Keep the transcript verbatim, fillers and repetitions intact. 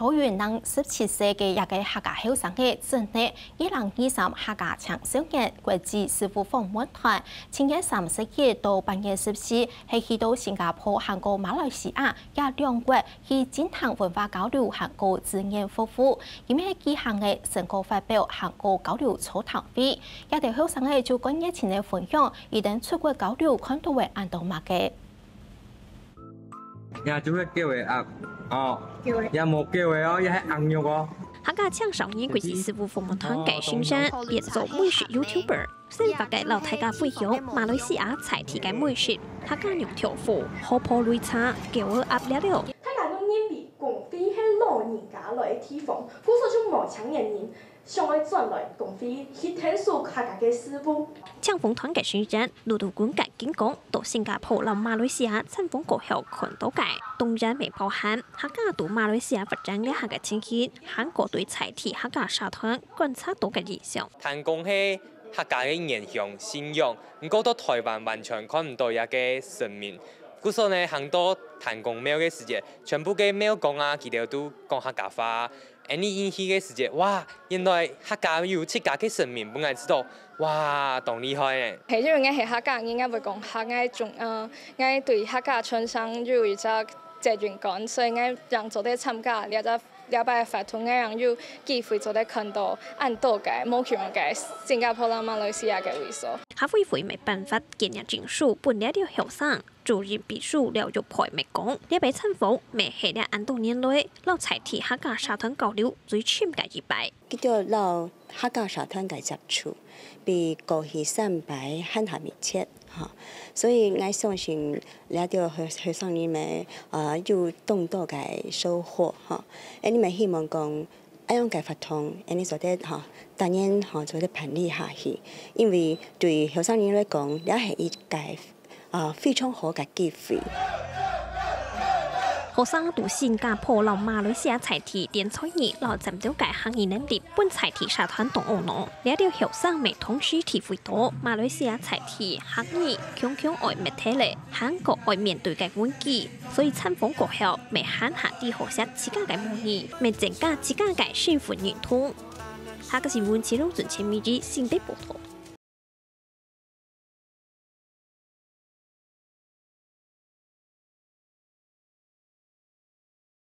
都有能十七歲个一个客家後生仔，正係二零二三客家青少年國際師傅訪問團，七月三十一到八月十四，係去到新加坡還過馬來西亞這兩國去進行文化交流還過志願服務。佢等係舉行个成果發表還過交流座談會，這兜後生仔就更熱情个分享佢等出國交流看到个恁多麼个。 也就係狗仔鴨，哦，狗仔。也無狗仔哦，也係鴨肉哦。客家青少年國際師傅訪問團个先生，變做美食YouTuber，生活个摎大家分享馬來西亞在地个美食、客家娘豆腐、河婆擂茶、狗仔鴨了了。大家都認為公會係老人家來个地方，故所就無青年人 想愛轉來公會去𢯭手客家个事務。青年團个成員，陸陸軍个經過，到新加坡摎馬來西亞參訪過後看到个，當然乜包含客家在馬來西亞發展這下个情形，還過對在地客家社團觀察到个現象。聽講係客家个原鄉、信仰，毋過到臺灣完全看毋到這个神明。故所呢，行到天公廟个時節，全部个廟公啊，佢兜都講客家話。 恁呢入去个時節，哇，原來客家有自家个神明，分𠊎知道，哇，當厲害呢！係，因為𠊎係客家人，𠊎會講客，𠊎中，呃，𠊎對客家傳承有一隻責任感，所以𠊎正做得參加這隻，這擺个活動，𠊎正有機會做得看到恁多个無共樣个新加坡摎馬來西亞个位所。客委會乜頒發紀念證書分這兜後生。 主任秘書廖玉佩乜講，這擺參訪乜係這恁多年來，摎在地客家社團交流最深个一擺。佢兜摎客家社團个接觸，比過去三擺還較密切，吼。所以𠊎相信，這兜後，後生人乜，呃，有當多个收穫，吼。𠊎等乜希望講， 恁樣个活動，恁呢做得，吼，當然，吼，做得辦理下去，因為對後生人來講，這係一個，啊，非常好个機會。學生在新加坡摎馬來西亞在地展才藝摎尖端个客語能力，分在地社團當懊惱。這兜後生乜同時體會到，馬來西亞在地客語強強愛滅忒咧，還過愛面對个危機。 所以參訪過後，乜還較知好惜自家个母語，乜增加自家个身份認同。客家新聞，徐龍準、陳美儀新北報導。